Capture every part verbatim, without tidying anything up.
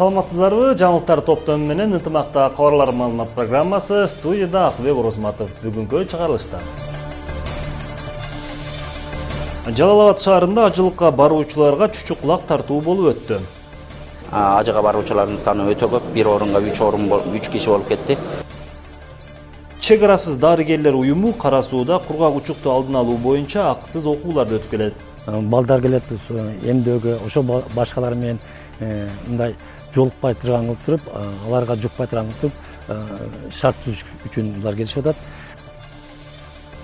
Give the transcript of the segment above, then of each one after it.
Саламатсыздарбы? Жаңылыктар топтому менен ынтымакта кабарлар маалымат программасы студияда Акылбек Орозматов бүгүнкү чыгарылышта. Жалал Абад шаарында ажылыкка баруучуларга чучук-кулак тартуу болуп өттү. Ажыга баруучулардын саны өтө көп, бир орунга үч орун үч киши болуп кетти. Чек арасыз дарыгерлер уюму Кара Сууда кургак учукту алдын алуу боюнча акысыз окууларды өткөрөт. Балдар келет, эмдөөгө, ошо башкалар менен мындай жолукпай турган кылып туруп, аларга жукпай турган кылып туруп, шарт түзүш үчүн булар келишип атат.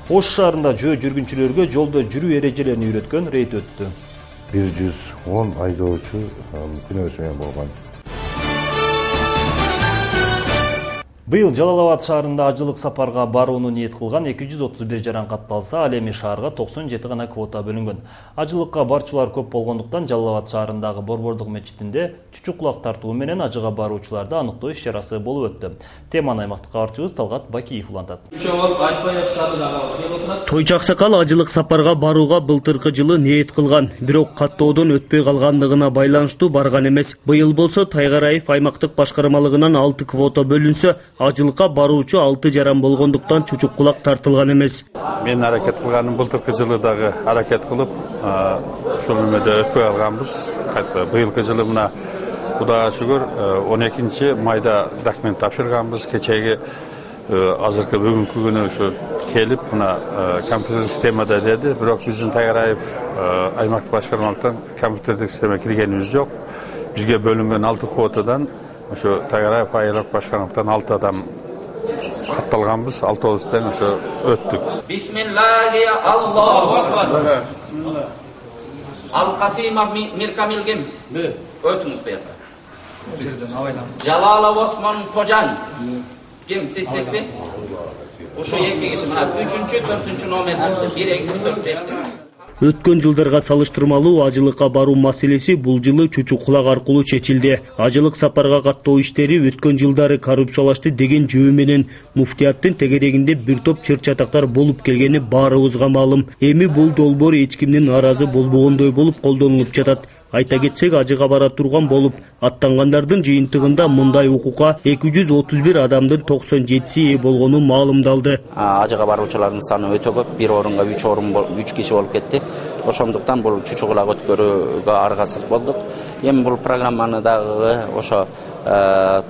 Ош шаарында жөө жүргүнчүлөргө жолдо жүрүү эрежелерин үйрөткөн рейд өттү. бир жүз он айдоочу күнөөсү менен болгон. Быйыл Жалал Абад шаарында ажылык сапарга барууну ниет кылган эки жүз отуз бир жаран катталса, ал эми шаарга токсон жети гана квота бөлүнгөн. Ажылыкка барчылар көп болгондуктан Жалал Абад шаарындагы Борбордук мечитинде чучук-кулак тартуу менен ажыга баруучуларды аныктоо иш-чарасы болуп өттү. Теманы аймактык кабарчыбыз Талгат Бакиев улантат. Тойчу Аксакал ажылык сапарга барууга былтыркы жылы ниет кылган, бирок каттоодон өтпөй калгандыгына байланыштуу барган эмес. Быйыл болсо Тайгараев аймактык башкармалыгынан алты квота бөлүнсө, ажылыкка баруучу алты жаран болгондуктан чучук-кулак тартылган эмес. Мен аракет кылганым былтыркы жылы дагы аракет кылып, ушул эмеде өтпөй калганбыз. Кайта быйылкы жылы мына Кудайга шүгүр он экинчи майда документ тапшырганбыз. Кечеги азыркы бүгүнкү күнү ушу келип, мына компьютер системада деди, бирок биздин Тайгараев аймактык башкармалыктан компьютердик система киргенибиз жок. Бизге бөлүнгөн алты квотадан ошо Тайгараев аймактык башкармалыктан алты адам катталганбыз, алтыбыз тең ошо өттүк. Бисмиллахи Аллаху акбар. Ал-Касимов Миркамилгем. Өтүңүз буяка. Жалалов Осмон Кожан. Ким сиз сизби? Ошо эки киши мына үчүнчү, төртүнчү номер чыкты. бир эки үч төрт беш. Өткөн жылдарга салыштырмалуу ажылыкка баруу маселеси бул жылы чучук-кулак аркылуу чечилди. Ажылык сапарга каттоо иштери өткөн жылдары коррупциялашты деген жөө менен муфтияттын тегерегинде бир топ чыр-чатактар болуп келгени баарыбызга маалым. Эми бул долбоор эч кимдин нааразы болбогондой болуп колдонулуп жатат. Айта кетсек, ажыга бара турган болуп аттангандардын жыйынтыгында мындай укукка эки жүз отуз бир адамдын токсон жетиси ээ болгону маалымдалды. Ажыга баруучулардын саны өтө көп, бир орунга үч орун үч киши болуп кетти. Ошондуктан бул чучук-кулак өткөрүүгө аргасыз болдук. Эми бул программаны дагы ошо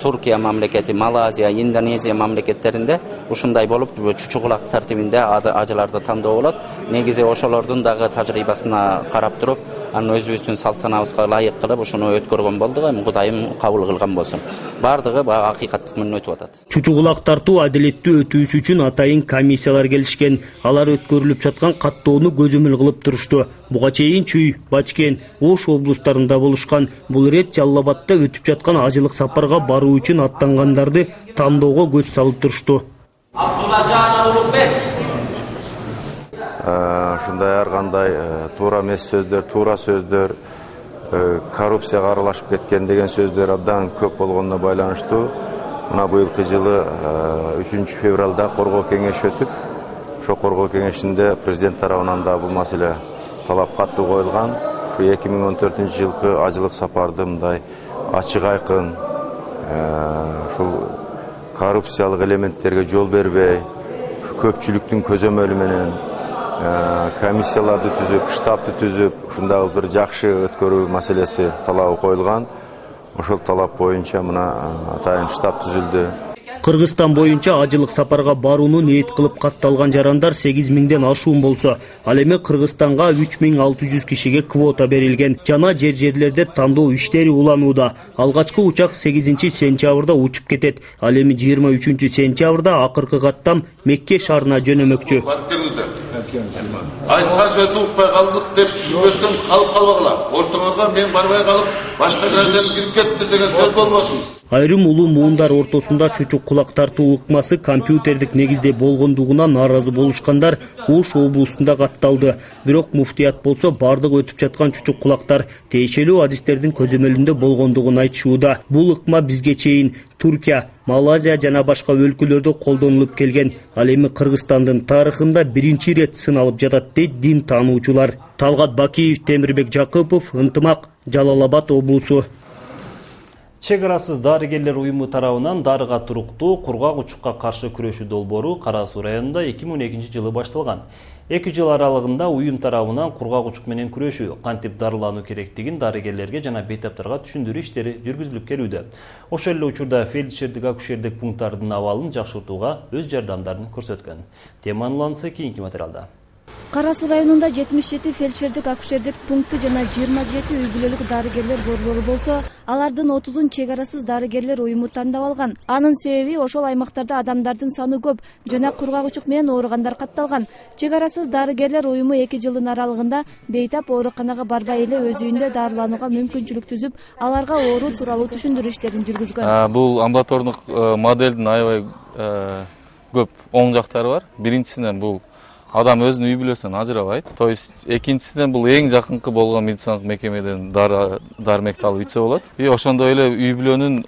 Туркия мамлекети, Малайзия, Индонезия мамлекеттеринде ушундай болуп чучук-кулак тартибинде ажыларды тандоо болот. Негизи ошолордун дагы тажрыйбасына карап туруп, анын өзүбүздүн салт-санабызга ылайык кылып ушуну өткөргөн болдук. Эми Кудайым кабыл кылган болсун. Бардыгы акыйкаттык менен өтүп атат. Чучук-кулак тартуу адилеттүү өтүүсү үчүн атайын комиссиялар келишкен. Алар өткөрүлүп жаткан каттоону көзөмөл кылып турушту. Буга чейин Чүй, Бачкен, Ош облустарында болушкан. Бул ирет Жалал Абадда өтүп жаткан ажылык сапарга баруу үчүн аттангандарды тандоого көз салып турушту. Абдулажан Улукбек. Ушундай ар кандай туура эмес сөздөр, туура сөздөр, коррупцияга аралашып кеткен деген сөздөр абдан көп болгонуна байланыштуу. Мына быйылкы жылы үчүнчү февралда коргоо кеңеши өтүп, ошо коргоо кеңешинде президент тарабынан да бул маселе талап катуу коюлган. Ушу эки миң он төртүнчү жылкы ажылык сапарды мындай ачык айкын, ушул коррупциялык элементтерге жол бербей, көпчүлүктүн көзөмөлү менен комиссияларды түзүп, штабты түзүп, ушундай бир жакшы өткөрүү маселеси талабы коюлган. Ошол талап боюнча мына атайын штаб түзүлдү. Кыргызстан боюнча ажылык сапарга барууну ниет кылып катталган жарандар сегиз миңден ашуун болсо, ал эми Кыргызстанга үч миң алты жүз кишиге квота берилген. Жана жер-жерлерде тандоо иштери уланууда. Алгачкы учак сегизинчи сентябрда учуп кетет. Ал эми жыйырма үчүнчү сентябрда акыркы каттам Мекке шаарына жөнөмөкчү. Айткан сөздү укпай калдык деп түшүнбөстөн калып калбагыла. Ортоңорго мен барбай калып, башка граждан кирип кетти деген сөз болбосун. Айрым улуу муундар ортосунда чучук-кулак тартуу ыкмасы компьютердик негизде болгондугуна нааразы болушкандар Ош облусунда катталды. Бирок муфтият болсо бардык өтүп жаткан чучук-кулактар тиешелүү адистердин көзөмөлүндө болгондугун айтышууда. Бул ыкма бизге чейин Туркия, Малайзия жана башка өлкөлөрдө колдонулуп келген. Ал эми Кыргызстандын тарыхында биринчи ирет сыналып жатат дейт дин таануучулар. Талгат Бакиев, Темирбек Жакыпов, Ынтымак, Жалал Абад облусу. Чек арасыз дарыгерлер уюму тарабынан дарыга туруктуу кургак учукка каршы күрөшүү долбоору Кара Суу районунда эки миң он экинчи жылы башталган. эки жыл аралыгында уюм тарабынан кургак учук менен күрөшүү, кантип дарылануу керектигин дарыгерлерге жана бейтаптарга түшүндүрүү иштери жүргүзүлүп келүүдө. Ошол эле учурда фельдшердик акушердик пункттардын абалын жакшыртууга өз жардамдарын көрсөткөн. Теманын уланысы кийинки материалда. Кара Суу районунда жетимиш жети фельдшердик акушердик пункты жана жыйырма жети үй бүлөлүк дарыгерлер борбору болсо, алардын отузун чек арасыз дарыгерлер уюму тандап алган. Анын себеби ошол аймактарда адамдардын саны көп жана кургак учук менен ооругандар катталган. Чек арасыз дарыгерлер уюму эки жылдын аралыгында бейтап ооруканага барбай эле өз үйүндө дарыланууга мүмкүнчүлүк түзүп, аларга оору тууралуу түшүндүрүү иштерин жүргүзгөн. Бул амбулатордук моделдин аябай көп оң жактары бар. Биринчисинен бул адам өзүнүн үй бүлөсүнөн ажырабайт. То есть экинчисинен бул эң жакынкы болгон медициналык мекемеден дары дармекти алып ичсе болот. И ошондой эле үй бүлөнүн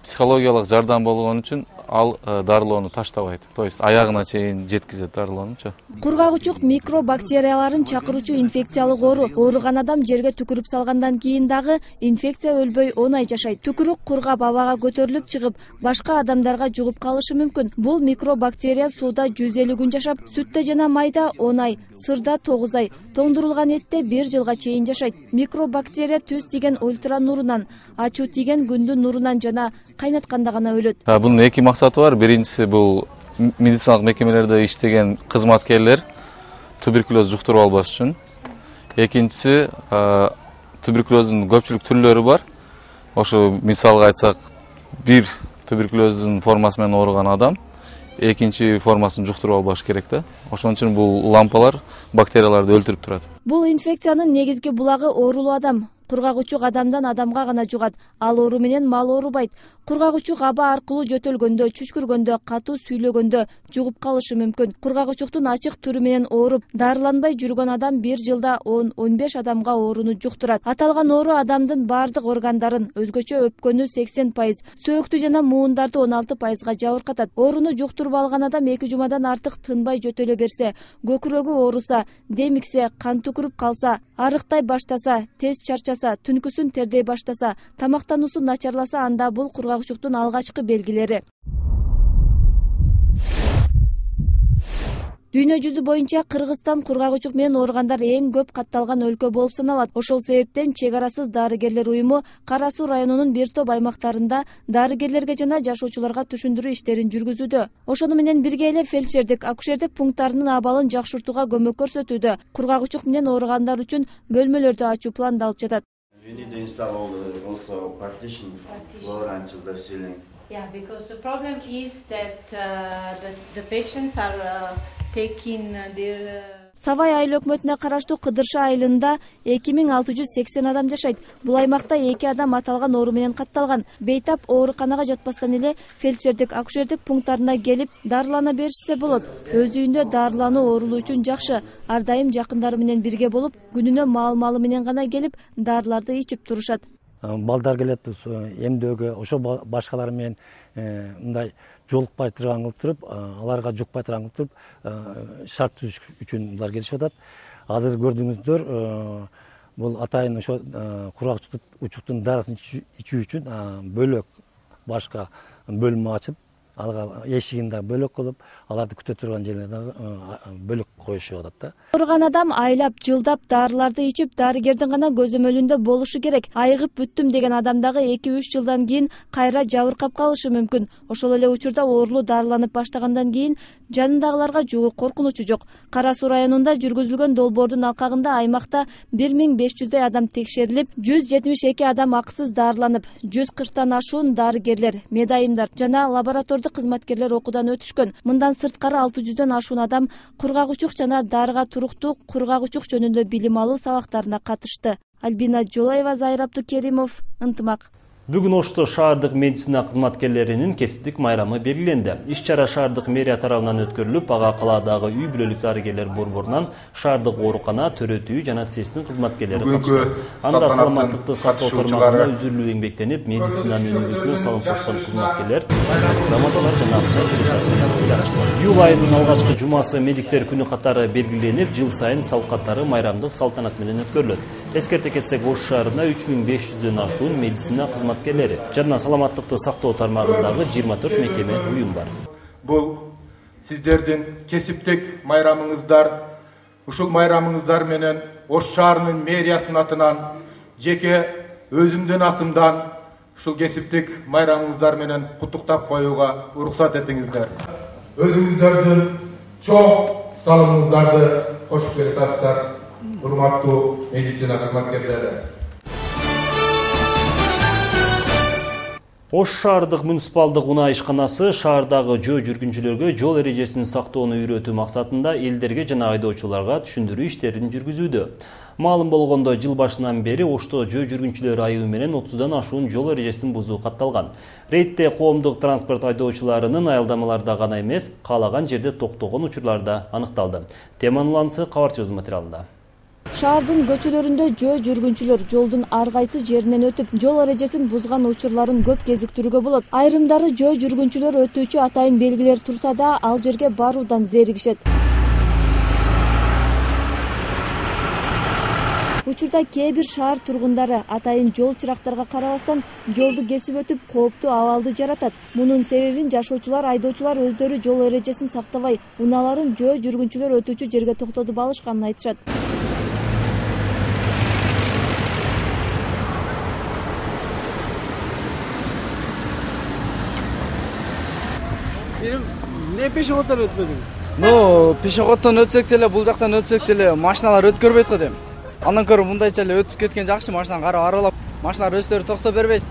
психологиялык жардам болгон үчүн ал дарылоону таштабайт. То есть аягына чейин жеткизет дарылоонучу. Кургак учук микробактерияларын чакыруучу инфекциялык оору. Ооруган адам жерге түкүрүп салгандан кийин дагы инфекция өлбөй он ай жашайт. Түкүрүк кургап абага көтөрүлүп чыгып, башка адамдарга жугуп калышы мүмкүн. Бул микробактерия сууда жүз элүү күн жашап, сүттө жана майда он ай, сырда тогуз ай, тоңдурулган этте бир жылга чейин жашайт. Микробактерия түз тийген ультра нурунан, ачуу тийген күндүн нурунан жана кайнатканда гана өлөт. Бунун эки максаты бар. Биринчиси бул медициналык мекемелерде иштеген кызматкерлер туберкулез жуктуруп албаш үчүн. Экинчиси туберкулездин көпчүлүк түрлөрү бар. Ошо мисалга айтсак, бир туберкулездин формасы менен ооруган адам экинчи формасын жуктуруп албаш керек да. Ошон үчүн бул лампалар бактерияларды өлтүрүп турат. Бул инфекциянын негизги булагы оорулуу адам. Кургак учук адамдан адамга гана жугат. Ал оору менен мал оорубайт. Кургак учук аба аркылуу жөтөлгөндө, чүчкүргөндө, катуу сүйлөгөндө жугуп калышы мүмкүн. Кургак учуктун ачык түрү менен ооруп, дарыланбай жүргөн адам бир жылда он он беш адамга ооруну жуктурат. Аталган оору адамдын бардык органдарын, өзгөчө өпкөнү сексен пайыз, сөөктү жана муундарды он алты пайызга жабыркатат. Ооруну жуктуруп алган адам эки жумадан артык тынбай жөтөлө берсе, көкүрөгү ооруса, демиксе, кан түкүрүп калса, арыктай баштаса, тез чарчаса, түнкүсүн тердей баштаса, тамактануусу начарласа, анда бул кургак учуктун алгачкы белгилери. Дүйнө жүзү боюнча Кыргызстан кургак учук менен ооругандар эң көп катталган өлкө болуп саналат. Ошол себептен чек арасыз дарыгерлер уюму Кара Суу районунун бир топ аймактарында дарыгерлерге жана жашоочуларга түшүндүрүү иштерин жүргүзүүдө. Ошону менен бирге эле фельдшердик, акушердик пункттарынын абалын жакшыртууга көмөк көрсөтүүдө. Кургак учук менен ооругандар үчүн бөлмөлөрдү ачуу пландалып жатат. We need to install all the, also partition floor until the ceiling. Yeah, because the problem is that uh, the, the patients are uh, taking their... Uh... Савай айыл өкмөтүнө караштуу Кыдыршы айылында эки миң алты жүз сексен адам жашайт. Бул аймакта эки адам аталган оору менен катталган. Бейтап ооруканага жатпастан эле фельдшердик, акушердик пункттарына келип дарылана беришсе болот. Өз үйүндө дарылануу оорулуу үчүн жакшы. Ар дайым жакындары менен бирге болуп, күнүнө маал-маалы менен гана келип дарыларды ичип турушат. Балдар келет эмдөөгө, ошо башкалар менен мындай жолукпай турган кылып туруп, аларга жукпай турган кылып туруп шарт түзүш үчүн булар келишип атат. Азыр көрдүңүздөр, бул атайын ошо кургак учуктун дарысын ичүү үчүн бөлөк башка бөлмө ачып, алга эшигин да бөлөк кылып, аларды күтө турган жерлерде бөлөк коюшуп атат да. Ооруган адам айлап, жылдап дарыларды ичип, дарыгердин гана көзөмөлүндө болушу керек. Айыгып бүттүм деген адам дагы эки үч жылдан кийин кайра жабыркап калышы мүмкүн. Ошол эле учурда оорулуу дарыланып баштагандан кийин жанындагыларга жугуу коркунучу жок. Кара Суу районунда жүргүзүлгөн долбоордун алкагында аймакта бир миң беш жүздөй адам текшерилип, жүз жетимиш эки адам акысыз дарыланып, жүз кырктан ашуун дарыгерлер, медайымдар жана лаборатордук кызматкерлер окуудан өтүшкөн. Мындан сырткары алты жүздөн ашуун адам кургак учук жана дарыга туруктуу кургак учук жөнүндө билим алуу сабактарына катышты. Альбина Жолоева, Зайыр Абдукеримов, Ынтымак. Бүгүн Ошто шаардык медицина кызматкерлеринин кесиптик майрамы белгиленди. Иш-чара шаардык мэрия тарабынан өткөрүлүп, ага калаадагы үй бүлөлүк дарыгерлер борборунан шаардык оорукана, төрөтүү жана сестин кызматкерлери катышты. Анда саламаттыкты сактоо тармагында үзүрлүү эмгектенип, медицинанын өнүгүүсүнө салым кошкон кызматкерлер грамоталар жана акча сыйлыкты. Июль айынын алгачкы жумасы медиктер күнү катары белгиленип, жыл сайын сал катары майрамдык салтанат менен өткөрүлөт. Эскерте кетсек, Ош шаарында үч миң беш жүздөн ашуун медицина кызматкерлери жана саламаттыкты сактоо тармагындагы жыйырма төрт мекеме уюм бар. Бул сиздердин кесиптик майрамыңыздар. Ушул майрамыңыздар менен Ош шаарынын мэриясынын атынан, жеке өзүмдүн атымдан ушул кесиптик майрамыңыздар менен куттуктап коюуга уруксат этиңиздер. Өзүңүздөрдүн чоң салымыңыздарды кошуп келатасыздар, урматтуу медицина кызматкерлери. Ош шаардык муниципалдык унаа ишканасы шаардагы жөө жүргүнчүлөргө жол эрежесин сактоону үйрөтүү максатында элдерге жана айдоочуларга түшүндүрүү иштерин жүргүзүүдө. Маалым болгондо, жыл башынан бери Ошто жөө жүргүнчүлөр айыгы менен отуздан ашуун жол эрежесин бузуу катталган. Рейдте коомдук транспорт айдоочуларынын аялдамаларда гана эмес, каалаган жерде токтогон учурлар да аныкталды. Теманын уланысы кабарчыбыз материалында. Шаардын көчөлөрүндө жөө жүргүнчүлөр жолдун ар кайсы жеринен өтүп, жол эрежесин бузган учурларын көп кезиктирүүгө болот. Айрымдары жөө жүргүнчүлөр өтүүчү атайын белгилер турса да, ал жерге баруудан зеригишет. Учурда кээ бир шаар тургундары атайын жол чырактарга карабастан жолду кесип өтүп, кооптуу абалды жаратат. Мунун себебин жашоочулар, айдоочулар өздөрү жол эрежесин сактабай, унааларын жөө жүргүнчүлөр өтүүчү жерге токтотуп алышканын айтышат. Не пешеходдор өтпөдүң? Ну, пешеходдон өтсөк деле, бул жактан өтсөк деле машиналар өткөрбөйт го дейм. Андан көрө мындайча эле өтүп кеткен жакшы, машинаны карап аралап, машиналар өздөрү токто бербейт.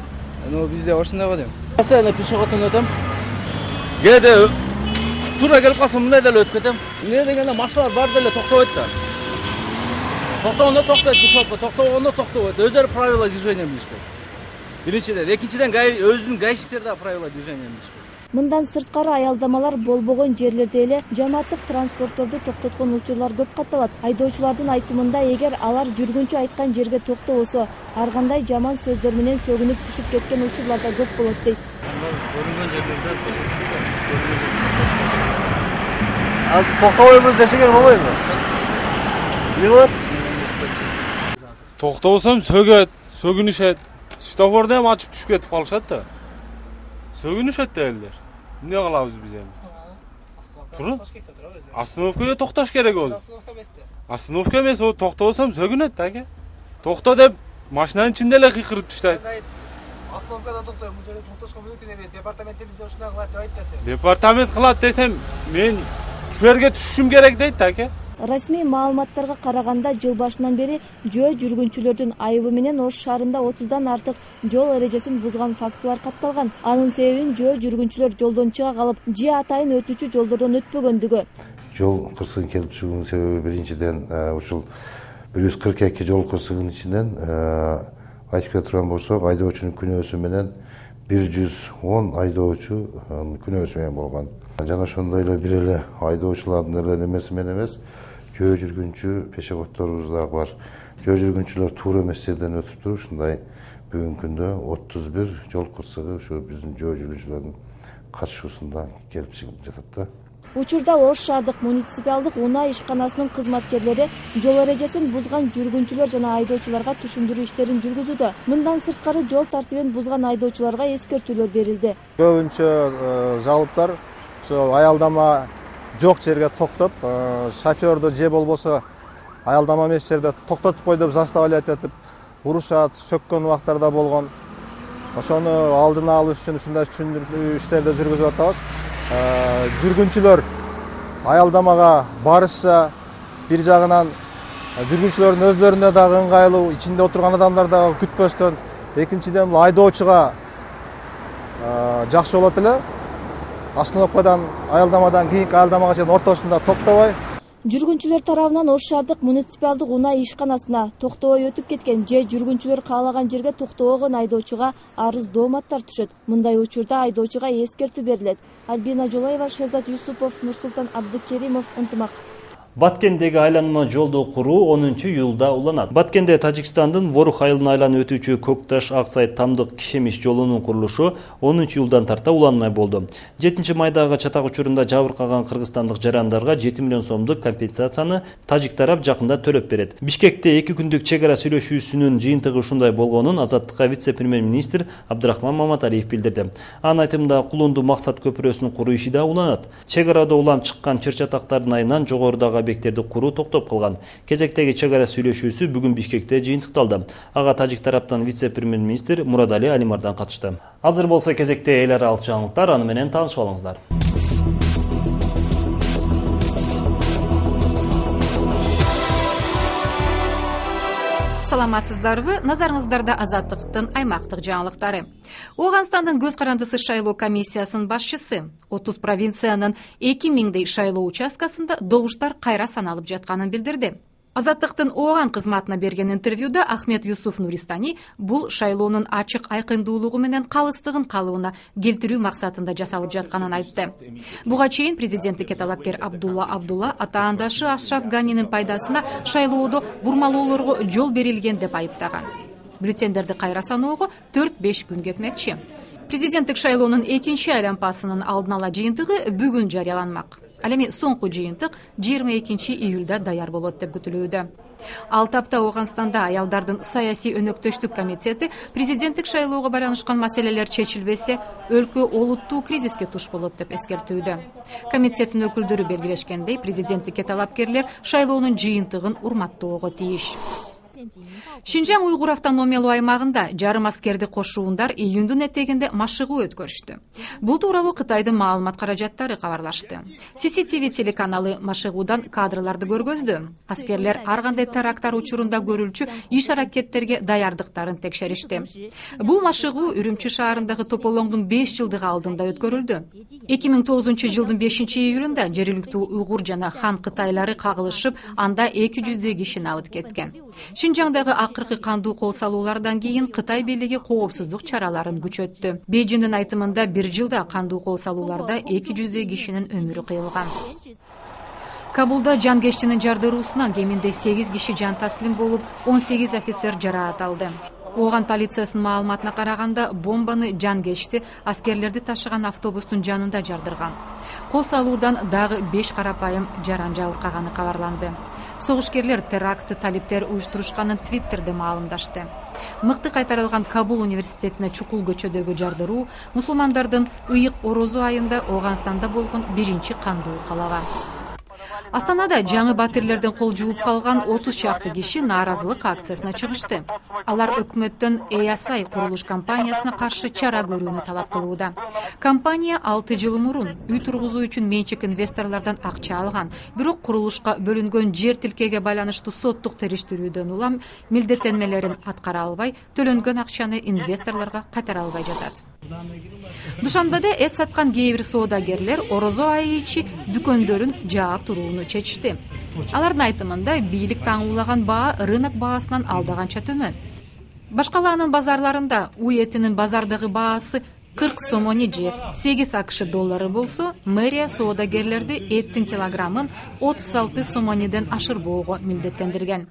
Ну, бизде ошондой го дейм. Постоянно пешеходдон өтөм. Кээде туура келип калсам мындай деле өтүп кетем. Эмне дегенде машиналар бар деле токтобойт да. Токтогондо токтойт, пешеходдо токтогондо токтобойт. Өздөрү правила движения билишпейт. Биринчиден, экинчиден өзүнүн гаишниктер да правила движения билишпейт. Мындан сырткары аялдамалар болбогон жерлерде эле жамааттык транспортторду токтоткон учурлар көп катталат. Айдоочулардын айтымында, эгер алар жүргүнчү айткан жерге токтобосо, ар кандай жаман сөздөр менен сөгүнүп түшүп кеткен учурлар да көп болот дейт. Көрүнгөн жерлерде Ал токтобойбуз десеңер болбойбу? Эмне болот? Токтобосом сөгөт, сөгүнүшөт. Светофорду эми ачып түшүп кетип калышат да. Сөгүнүшөт да элдер. Эмне кылабыз биз эми? Туру? Остановкага токтош керек болду. Остановка эмес, о токтобосом сөгүнөт да аке. Токто деп машинанын ичинде эле кыйкырып түштөйт. Остановкада токтойм, бул жерде токтошко мүмкүн эмес. Департаментте бизде ушундай кылат деп айтасың. Департамент кылат десем, мен чүерге түшүшүм керек дейт да аке. Расмий маалыматтарга караганда, жыл башынан бери жөө жүргүнчүлөрдүн айыбы менен Ош шаарында отуздан артык жол эрежесин бузган фактылар катталган. Анын себебин жөө жүргүнчүлөр жолдон чыга калып, же атайын өтүүчү жолдордон өтпөгөндүгү. Жол кырсыгын келип чыгуунун себеби биринчиден ушул бир жүз кырк эки жол кырсыгынын ичинен айтып кете турган болсок, айдоочунун күнөөсү менен бир жүз он айдоочу күнөөсү менен болгон. Жана ошондой эле бир эле айдоочулардын эле немеси менен эмес, жөө жүргүнчү пешеходдорубуз дагы бар. Жөө жүргүнчүлөр туура эмес жерден өтүп туруп, ушундай бүгүнкү күндө отуз бир жол кырсыгы ушу биздин жөө жүргүнчүлөрдүн катышуусунда келип чыгып жатат да. Учурда Ош шаардык муниципалдык унаа ишканасынын кызматкерлери жол эрежесин бузган жүргүнчүлөр жана айдоочуларга түшүндүрүү иштерин жүргүзүүдө. Мындан сырткары жол тартибин бузган айдоочуларга эскертүүлөр берилди. Көбүнчө жалыптар ошо аялдама жок жерге токтоп, шофёрду же болбосо аялдама эмес жерде токтотуп кой деп заставлять этип урушат, сөккөн убактарда болгон. Ошону алдын алуу үчүн ушундай түшүндүрүү иштерди жүргүзүп атабыз. Жүргүнчүлөр аялдамага барышса, бир жагынан жүргүнчүлөрдүн өздөрүнө дагы ыңгайлуу, ичинде отурган адамдар дагы күтпөстөн, экинчиден айдоочуга жакшы болот эле. Остановкадан, аялдамадан кийинки аялдамага чейин ортосунда токтобой. Жүргүнчүлөр тарабынан Ош шаардык муниципалдык унаа ишканасына токтобой өтүп кеткен же жүргүнчүлөр каалаган жерге токтобогон айдоочуга арыз дооматтар түшөт. Мындай учурда айдоочуга эскертүү берилет. Альбина Жолаева, Шерзат Юсупов, Нурсултан Абдыкеримов, Ынтымак. Баткендеги айланма жолду куруу онунчу июлда уланат. Баткенде Тажикстандын Ворух айылына айланып өтүүчү Көкташ Аксай Тамдык Кишемиш жолунун курулушу онунчу июлдан тарта уланмай болду. жетинчи майдагы чатак учурунда жабыркаган кыргызстандык жарандарга жети миллион сомдук компенсацияны тажик тарап жакында төлөп берет. Бишкекте эки күндүк чек ара сүйлөшүүсүнүн жыйынтыгы ушундай болгонун Азаттыкка вице-премьер-министр Абдрахман Маматалиев билдирди. Анын айтымында Кулунду Максат көпүрөсүн куруу иши да уланат. Чек арада улам чыккан чыр-чатактардын айынан жогорудагы объекттерди куруу токтоп калган. Кезектеги чек ара сүйлөшүүсү бүгүн Бишкекте жыйынтыкталды. Ага тажик тараптан вице-премьер-министр Мурадали Алимардан катышты. Азыр болсо кезекте эл аралык жаңылыктар, аны менен таанышып алыңыздар. Саламатсыздарбы? Назарыңыздарда Азаттыктын аймактык жаңылыктары. Ооганстандын көз карандысы шайлоо комиссиясынын башчысы отуз провинциянын эки миңдей шайлоо участкасында добуштар кайра саналып жатканын билдирди. Азаттыктын Ооган кызматына берген интервьюда Ахмет Юсуф Нуристани бул шайлоонун ачык айкындуулугу менен калыстыгын калыбына келтирүү максатында жасалып жатканын айтты. Буга чейин президенттикке талапкер Абдулла Абдулла атаандашы Ашраф Ганинин пайдасына шайлоодо бурмалоолорго жол берилген деп айыптаган. Бюллетендерди кайра саноого төрт беш күн кетмекчи. Президенттик шайлоонун экинчи айлампасынын алдын ала жыйынтыгы бүгүн жарыяланмак. Ал эми соңку жыйынтык жыйырма экинчи июлда даяр болот деп күтүлүүдө. Ал тапта Ооганстанда аялдардын саясий өнөктөштүк комитети президенттик шайлоого байланышкан маселелер чечилбесе, өлкө олуттуу кризиске туш болот деп эскертүүдө. Комитеттин өкүлдөрү белгилешкендей, президенттикке талапкерлер шайлоонун жыйынтыгын урматтоого тийиш. Шинжаң уйгур автономиялуу аймагында жарым аскерди кошуундар июндун этегинде машыгуу өткөрүштү. Бул тууралуу Кытайдын маалымат каражаттары кабарлашты. си си ти ви телеканалы машыгуудан кадрларды көргөздү. Аскерлер ар кандай теракттар учурунда көрүлчү иш-аракеттерге даярдыктарын текшеришти. Бул машыгуу Үрүмчү шаарындагы Тополоңдун беш жылдыгы алдында өткөрүлдү. эки миң тогузунчу жылдын бешинчи июлунда жергиликтүү уйгур жана хан кытайлары кагылышып, анда эки жүздөй киши набыт кеткен. Шинжаңдагы акыркы кандуу кол салуулардан кийин Кытай бийлиги коопсуздук чараларын күчөттү. Бейжиңдин айтымында бир жылда кандуу кол салууларда эки жүздөй кишинин өмүрү кыйылган. Кабулда жангештинин жардыруусунан кеминде сегиз киши жан таслим болуп, он сегиз офицер жараат алды. Ооган полициясынын маалыматына караганда, бомбаны жангечти аскерлерди ташыган автобустун жанында жардырган. Кол салуудан дагы беш карапайым жаран жабыркаганы кабарланды. Согушкерлер терактты талиптер уюштурушканын Твиттерде маалымдашты. Мыкты кайтарылган Кабул университетине чукул көчөдөгү жардыруу мусулмандардын ыйык орозо айында Ооганстанда болгон биринчи кандуу калаба. Астанада жаңы батирлерден кол жууп калган отуз чакты киши нааразылык акциясына чыгышты. Алар өкмөттөн Эясай курулуш компаниясына каршы чара көрүүнү талап кылууда. Компания алты жыл мурун үй тургузуу үчүн менчик инвесторлордон акча алган, бирок курулушка бөлүнгөн жер тилкеге байланыштуу соттук териштирүүдөн улам милдеттенмелерин аткара албай, төлөнгөн акчаны инвесторлорго кайтара албай жатат. Душанбеде эт саткан кээ бир соодагерлер орозо айы ичи дүкөндөрүн жаап турууну чечишти. Алардын айтымында бийлик таңуулаган баа рынок баасынан алдаганча төмөн. Башкалаанын базарларында уй этинин базардагы баасы кырк сомони же сегиз акш доллары болсо, мэрия соодагерлерди эттин килограммын отуз алты сомониден ашырбоого милдеттендирген.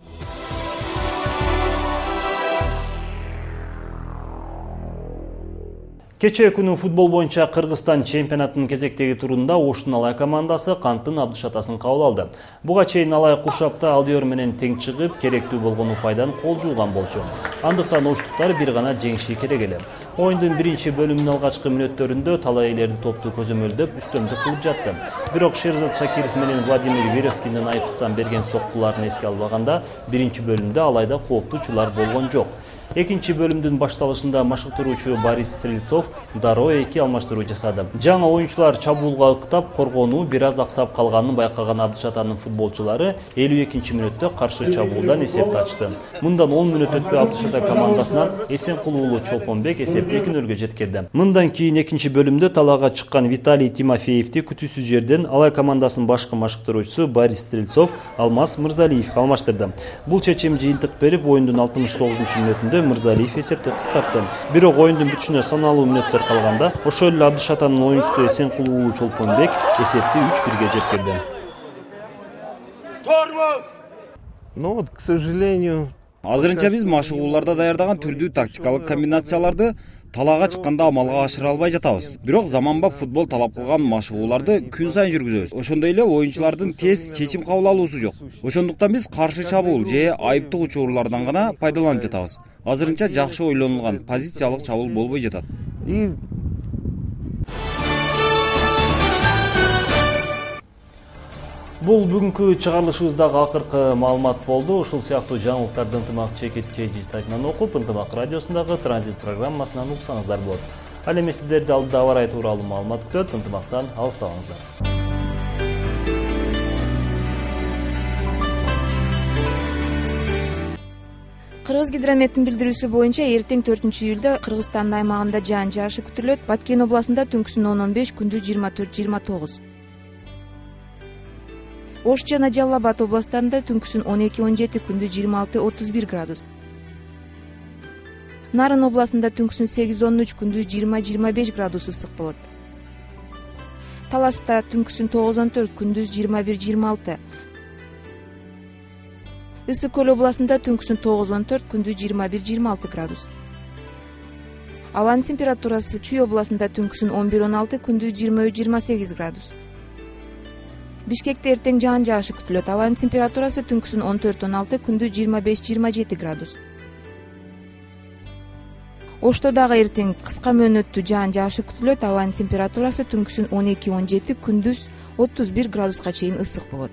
Кечээ күнү футбол боюнча Кыргызстан чемпионатынын кезектеги турунда Оштун Алай командасы Канттын Абдышатасын кабыл алды. Буга чейин Алай Куршапта Алдиор менен тең чыгып, керектүү болгон упайдан кол жууган болчу. Андыктан оштуктар бир гана жеңиши керек эле. Оюндун биринчи бөлүмүнүн алгачкы мүнөттөрүндө талай элерди топту көзөмөлдөп, үстөмдүк кылып жатты. Бирок Шерзат Шакиров менен Владимир Веревкиндин айыптан берген соккуларын эске албаганда, биринчи бөлүмдө Алайда кооптуу учурлар болгон жок. Экинчи бөлүмдүн башталышында машыктыруучу Борис Стрельцов дароо эки алмаштыруу жасады. Жаңы оюнчулар чабуулга ыктап, коргонуу бир аз аксап калганын байкаган Абдышатанын футболчулары элүү экинчи мүнөттө каршы чабуулдан эсепти ачты. Мындан он мүнөт өтпөй Абдышата командасынан Эсенкул уулу Чолпонбек эсепти эки нөлгө жеткирди. Мындан кийин экинчи бөлүмдө талаага чыккан Виталий Тимофеевди күтүүсүз жерден Алай командасынын башкы машыктыруучусу Борис Стрельцов Алмаз Мырзалиевге алмаштырды. Бул чечим жыйынтык берип, оюндун алтымыш тогузунчу мүнөтүндө Мырзалиев эсепти кыскартты. Бирок оюндун бүтүшүнө саналуу мүнөттөр калганда, ошол эле Абдышатанын оюнчусу Эсенкул уулу Чолпонбек эсепти үч бирге жеткирди. Тормоз! Но вот, к сожалению, азырынча биз машыгууларда даярдаган түрдүү тактикалык комбинацияларды талаага чыкканда амалга ашыра албай жатабыз. Бирок заманбап футбол талап кылган машыгууларды күн сайын жүргүзөбүз. Ошондой эле оюнчулардын тез чечим кабыл алуусу жок. Ошондуктан биз каршы чабуул же айыптык учурлардан гана пайдаланып жатабыз. Азырынча жакшы ойлонулган позициялык чабуул болбой жатат. И Бул бүгүнкү чыгарылышыбыздагы акыркы маалымат болду. Ушул сыяктуу жаңылыктарды ынтымак чекит kg сайтынан окуп, ынтымак радиосундагы транзит программасынан уксаңыздар болот. Ал эми сиздерди алдыда аба ырайы тууралуу маалымат күтөт. Ынтымактан алыстабаңыздар. Кыргыз гидрометтин билдирүүсү боюнча эртең төртүнчү июлда Кыргызстандын аймагында жаан жаашы күтүлөт. Баткен областында түнкүсүн он он беш, күндүз жыйырма төрт жыйырма тогуз. Ош жана Жалал Абад областарында түнкүсүн он эки он жети, күндүз жыйырма алты отуз бир градус. Нарын областында түнкүсүн сегиз он үч, күндүз жыйырма жыйырма беш градус ысык болот. Таласта түнкүсүн тогуз он төрт, күндүз жыйырма бир жыйырма алты. Ысык көл областында түнкүсүн тогуз он төрт, күндүз жыйырма бир жыйырма алты градус. Абанын температурасы Чүй областында түнкүсүн он бир он алты, күндүз жыйырма үч жыйырма сегиз градус. Бишкекте эртең жаан жаашы күтүлөт. Абанын температурасы түнкүсүн он төрт он алты, күндүз жыйырма беш жыйырма жети градус. Ошто дагы эртең кыска мөөнөттүү жаан жаашы күтүлөт. Абанын температурасы түнкүсүн он эки он жети, күндүз отуз бир градуска чейин ысык болот.